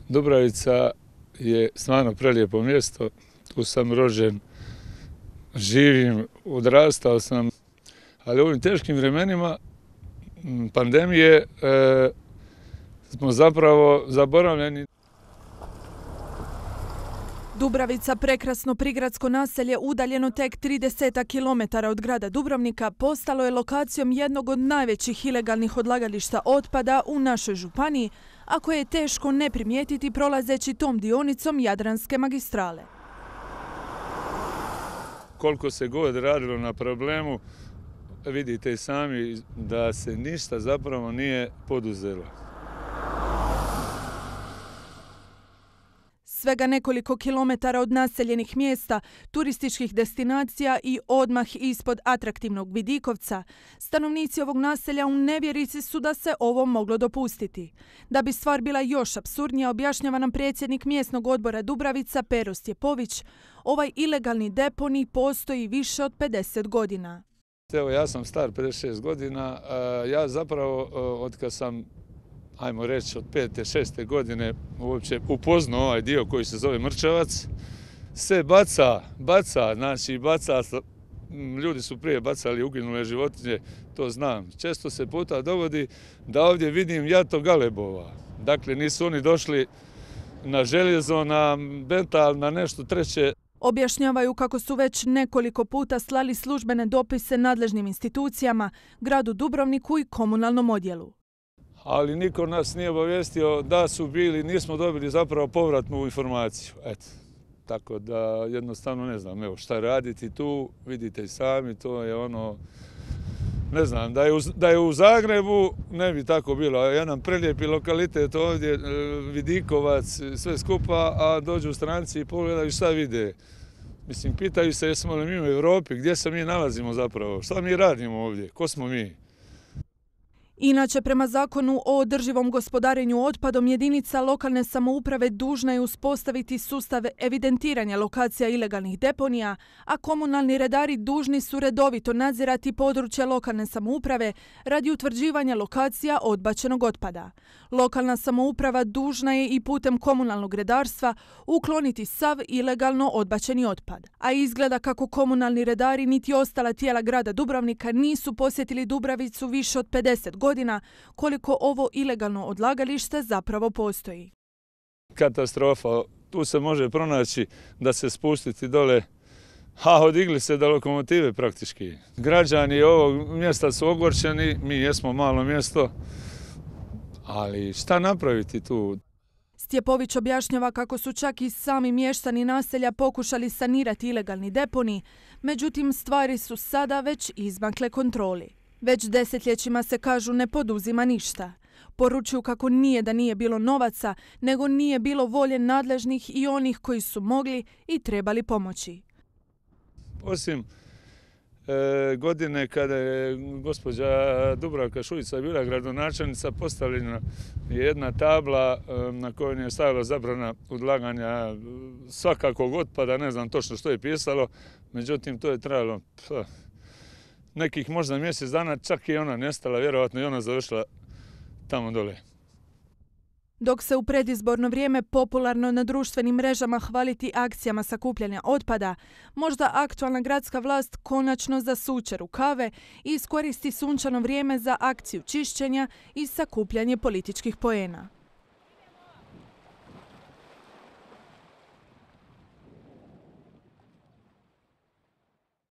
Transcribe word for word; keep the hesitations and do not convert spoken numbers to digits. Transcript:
Dubravica je stvarno prelijepo mjesto, tu sam rođen, živim, odrastao sam, ali u ovim teškim vremenima pandemije e, smo zapravo zaboravljeni. Dubravica, prekrasno prigradsko naselje udaljeno tek trideset kilometara od grada Dubrovnika, postalo je lokacijom jednog od najvećih ilegalnih odlagališta otpada u našoj županiji, a koje je teško ne primijetiti prolazeći tom dionicom Jadranske magistrale. Koliko se god radilo na problemu, vidite i sami da se ništa zapravo nije poduzelo. Svega nekoliko kilometara od naseljenih mjesta, turističkih destinacija i odmah ispod atraktivnog Vidikovca, stanovnici ovog naselja u nevjerici su da se ovo moglo dopustiti. Da bi stvar bila još apsurdnija, objašnjava nam predsjednik mjesnog odbora Dubravica Pero Stjepović, ovaj ilegalni deponij postoji više od pedeset godina. Evo, ja sam star pedeset šest godina, ja zapravo od kad sam, ajmo reći, od pete, šeste godine uopće upoznao ovaj dio koji se zove Mrčevac, se baca, baca, znači baca, ljudi su prije bacali uginule životinje, to znam. Često se puta dogodi da ovdje vidim jato galebova. Dakle, nisu oni došli na željezo, na metal, na nešto treće. Objašnjavaju kako su već nekoliko puta slali službene dopise nadležnim institucijama, gradu Dubrovniku i komunalnom odjelu. Ali niko nas nije obavijestio da su bili, nismo dobili zapravo povratnu informaciju. Eto, tako da jednostavno ne znam, evo šta raditi tu, vidite i sami, to je ono, ne znam, da je u, da je u Zagrebu ne bi tako bilo. Jedan prelijepi lokalitet ovdje, Vidikovac, sve skupa, a dođu stranci i pogledaju šta vide. Mislim, pitaju se jesmo li mi u Europi, gdje se mi nalazimo zapravo, šta mi radimo ovdje, ko smo mi? Inače, prema zakonu o održivom gospodarenju otpadom, jedinica lokalne samouprave dužna je uspostaviti sustav evidentiranja lokacija ilegalnih deponija, a komunalni redari dužni su redovito nadzirati područja lokalne samouprave radi utvrđivanja lokacija odbačenog otpada. Lokalna samouprava dužna je i putem komunalnog redarstva ukloniti sav ilegalno odbačeni otpad. A izgleda kako komunalni redari niti ostala tijela grada Dubrovnika nisu posjetili Dubravicu više od pedeset godina, koliko ovo ilegalno odlagalište zapravo postoji. Katastrofa. Tu se može pronaći da se spustiti dole, a odigli se do lokomotive praktički. Građani ovog mjesta su ogorčeni, mi jesmo malo mjesto, ali šta napraviti tu? Stjepović objašnjava kako su čak i sami mještani naselja pokušali sanirati ilegalni deponij, međutim stvari su sada već izmakle kontroli. Već desetljećima se, kažu, ne poduzima ništa. Poručuju kako nije da nije bilo novaca, nego nije bilo volje nadležnih i onih koji su mogli i trebali pomoći. Osim e, godine kada je gospođa Dubravka Šuica bila gradonačelnica, postavljena je jedna tabla e, na kojoj je stajala zabrana odlaganja svakakvog otpada, ne znam točno što je pisalo, međutim to je trajalo pf, nekih možda mjesec dana, čak i ona nestala, vjerojatno i ona završila tamo dole. Dok se u predizborno vrijeme popularno na društvenim mrežama hvaliti akcijama sakupljanja otpada, možda aktualna gradska vlast konačno zasuče rukave i iskoristi sunčano vrijeme za akciju čišćenja i sakupljanje političkih poena.